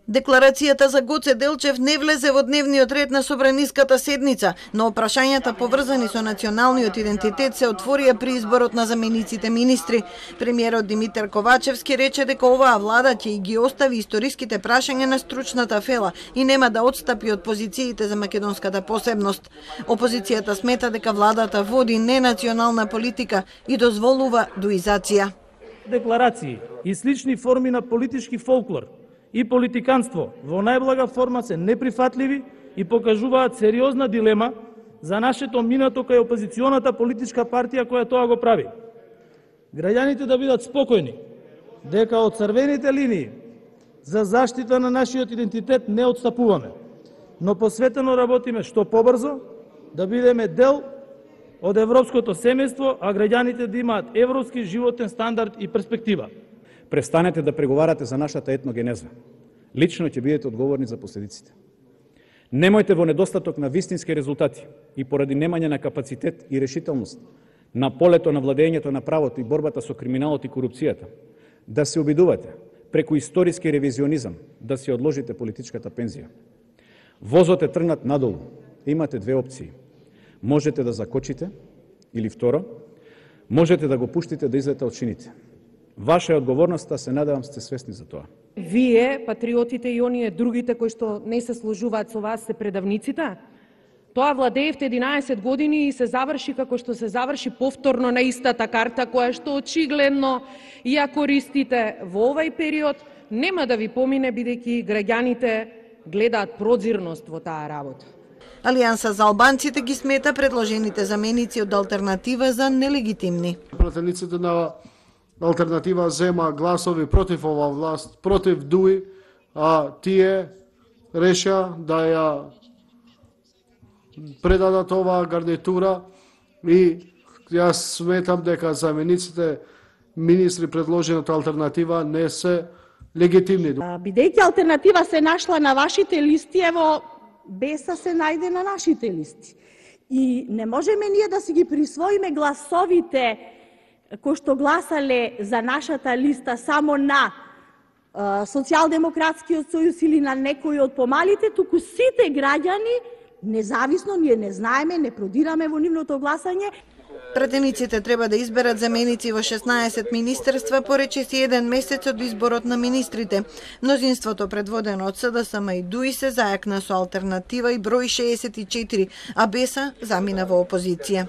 Декларацијата за Гоце Делчев не влезе во дневниот ред на собраниската седница, но прашањата поврзани со националниот идентитет се отворија при изборот на замениците министри. Премиерот Димитар Ковачевски рече дека оваа влада ќе ги остави историските прашања на стручната фела и нема да отстапи од позициите за македонската посебност. Опозицијата смета дека владата води ненационална политика и дозволува дуизација. Декларации и слични форми на политички фолклор и политиканство во најблага форма се неприфатливи и покажуваат сериозна дилема за нашето минато кај опозиционата политичка партија која тоа го прави. Граѓаните да бидат спокојни дека од црвените линии за заштита на нашиот идентитет не отстапуваме, но посветено работиме што побрзо да бидеме дел од европското семејство, а граѓаните да имаат европски животен стандард и перспектива. Престанете да преговарате за нашата етногенеза. Лично ќе бидете одговорни за последиците. Немојте во недостаток на вистински резултати и поради немање на капацитет и решителност на полето на владењето на правото и борбата со криминалот и корупцијата да се обидувате преку историски ревизионизам да си одложите политичката пензија. Возот е тргнат надолу. Имате две опции. Можете да закочите или второ, можете да го пуштите да излета од шините. Ваша е одговорноста, се надевам сте свесни за тоа. Вие, патриотите и оние другите кои што не се сложуваат со вас, се предавниците? Тоа владеевте 11 години и се заврши како што се заврши повторно на истата карта која што очигледно ја користите во овај период, нема да ви помине бидејќи граѓаните гледаат прозирност во таа работа. Алијанса за албанците ги смета предложените заменици од алтернатива за нелегитимни. Пратениците на алтернатива зема гласови против ова власт, против ДУИ, а тие реша да ја предадат оваа гарнитура и јас сметам дека замениците министри предложени од алтернатива не се легитимни. Бидејќи алтернатива се нашла на вашите листи, ево Беса се најде на нашите листи. И не можеме ние да си ги присвоиме гласовите кои што гласале за нашата листа само на Социјалдемократскиот сојуз или на некои од помалите, туку сите граѓани, независно, ние не знаеме, не продираме во нивното гласање. Пратениците треба да изберат заменици во 16 министерства по речиси 1 месец од изборот на министрите. Мнозинството предводено од СДСМ и ДУИ се зајакна со алтернатива и број 64, а Беса замина во опозиција.